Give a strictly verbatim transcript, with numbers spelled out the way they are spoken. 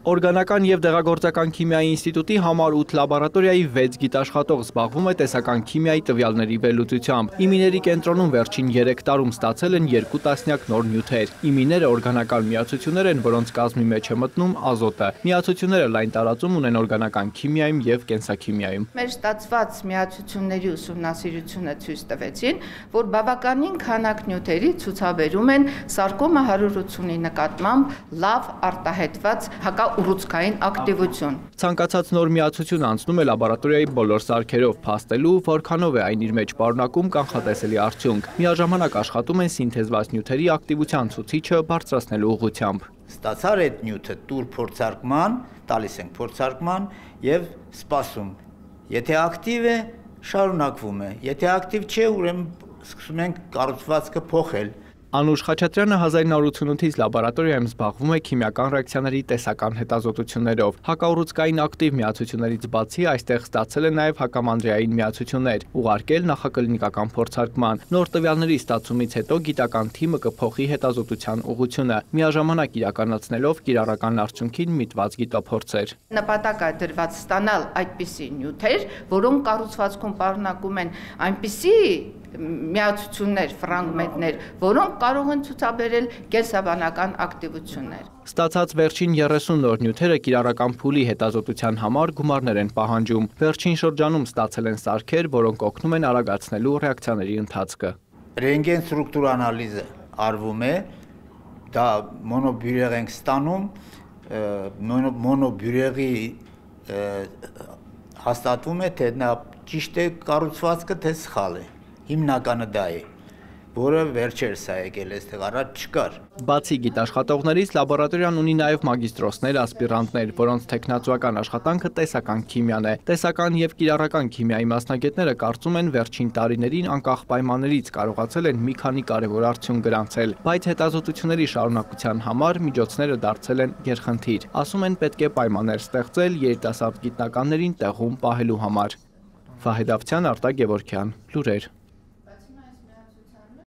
Օրգանական և դեղագործական քիմիայի ինստիտուտի համար ութ լաբորատորիայի վեց գիտաշխատող զբաղվում է տեսական քիմիայի տվյալների վերլուծությամբ։ Իմիների կենտրոնում վերջին երեք տարում ստացել են երկու տասնյակ նոր նյութեր։ Իմիները օրգանական միացություններ են, որոնց կազմի մեջ է մտնում ազոտը։ Միացությունները լայն տարածում ունեն օրգանական քիմիայում և կենսաքիմիայում։ Մեր ստացված միացությունների ուսումնասիրությունը ցույց տվեցին, որ բավականին քանակ նյութերի ցուցաբերում են սարկոմա հարյուր ութսունի նկատմամբ լավ արտահայտված հակաուռուցքային ակտիվություն։ Ցանկացած նոր միացություն անցնում է լաբորատորիայի բոլոր սարքերով, փաստելու, որքանով է այն իր մեջ պարունակում կանխատեսելի արդյունք։ Միաժամանակ աշխատում են սինթեզված նյութերի ակտիվության ցուցիչը բարձրացնելու ուղղությամբ։ Ստացար այդ նյութը տուր փորձարկման, տալիս ենք փորձարկման եւ սպասում։ Եթե ակտիվ է, շարունակվում է։ Եթե ակտիվ չէ, ուրեմն սկսում ենք կառուցվածքը փոխել։ Անուշ Խաչատրյանը հազար նորը ութսունութից լաբորատորիայում զբաղվում է քիմիական ռեակցիաների տեսական հետազոտություններով։ Հակաուռուցքային ակտիվ միացություններից բացի այստեղ ստացել է նաև հակամանդրեային միացություններ, ուղարկել նախակլինիկական փորձարկման։ Նոր տվյալների ստացումից հետո գիտական թիմը կփոխի հետազոտության ուղղությունը, միաժամանակ իրականացնելով կիրառական արդյունքին միտված գիտափորձեր։ Նպատակ է դրված ստանալ այդպիսի նյութեր, որոնք կառուցվածքում պարունակում են այնպիսի միացություններ, ֆրագմենտներ, որոնք կարող են ցուցաբերել կենսաբանական ակտիվություններ։ Ստացած վերջին երեսուն նոր նյութերը կիրառական փուլի հետազոտության համար գումարներ են պահանջում։ Վերջին շրջանում ստացել են սարքեր, որոնք օգնում են արագացնելու ռեակցիաների ընթացքը։ Ռենտգեն ստրուկտուր անալիզը արվում է, դա մոնոբյուրեղ ենք ստանում, մոնոբյուրեղի հաստատվում է, թե նա ճիշտ է կառուցվածքը, թե սխալ է։ Հիմնականը դա է, որը վերջերս է եկել, այստեղ առաջ չկար։ Բացի գիտաշխատողներից լաբորատորիան ունի նաև մագիստրոսներ, ասպիրանտներ, որոնց թեկնածուական աշխատանքը տեսական քիմիան է։ Տեսական և կիրառական քիմիայի մասնագետները կարծում են վերջին տարիներին անկախ պայմաններից կարողացել են մի քանի կարևոր արդյունք գրանցել, բայց հետազոտությունների շարունակության համար միջոցները դարձել են գերխնդիր։ Ասում են պետք է պայմաններ ստեղծել երիտասարդ գիտնականներին տեղում պահելու համար։ Վահեդ Ավթյան, Արտակ Գևորգյան, լուրեր։